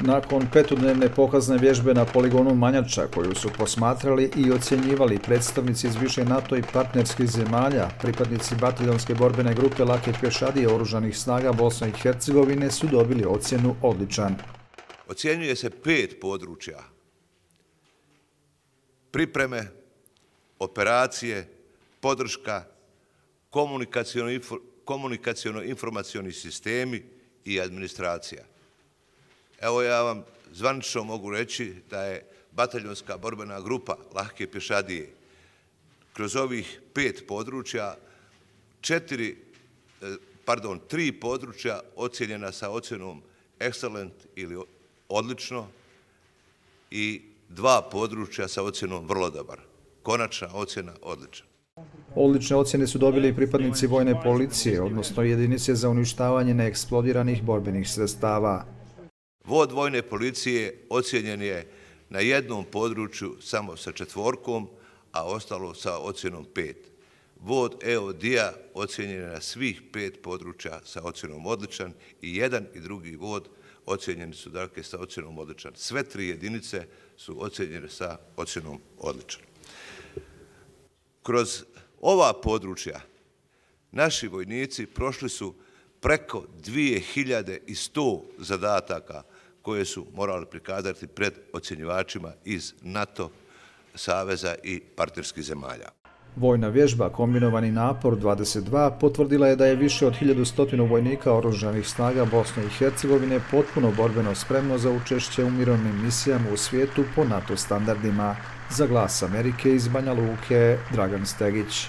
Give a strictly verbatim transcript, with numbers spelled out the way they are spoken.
Nakon petodnevne pokazne vježbe na poligonu Manjača, koju su posmatrali i ocjenjivali predstavnici iz više NATO i partnerskih zemalja, pripadnici bataljonske borbene grupe lake pješadije oružanih snaga Bosne i Hercegovine su dobili ocjenu odličan. Ocjenjuje se pet područja: pripreme, operacije, podrška, komunikaciono-informacioni sistemi i administracija. Evo, ja vam zvanično mogu reći da je bataljonska borbena grupa lake pješadije kroz ovih pet područja, četiri, pardon, tri područja ocjenjena sa ocjenom excellent ili odlično i dva područja sa ocjenom vrlo dobar. Konačna ocjena odlična. Odlične ocjene su dobili i pripadnici vojne policije, odnosno jedinice za uništavanje neeksplodiranih borbenih sredstava. Vod vojne policije ocjenjen je na jednom području samo sa četvorkom, a ostalo sa ocjenom pet. Vod E O D-a ocjenjen je na svih pet područja sa ocjenom odličan i jedan i drugi vod ocjenjeni su dakle sa ocjenom odličan. Sve tri jedinice su ocjenjene sa ocjenom odličan. Kroz ova područja naši vojnici prošli su preko dvije hiljade sto zadataka koje su morali prikazati pred ocjenjivačima iz NATO saveza i partnerskih zemalja. Vojna vježba Kombinovani napor dvadeset dva potvrdila je da je više od hiljadu sto vojnika oružanih snaga Bosne i Hercegovine potpuno borbeno spremno za učešće u mirovnim misijama u svijetu po NATO standardima. Za Glas Amerike iz Banja Luke, Dragan Stegić.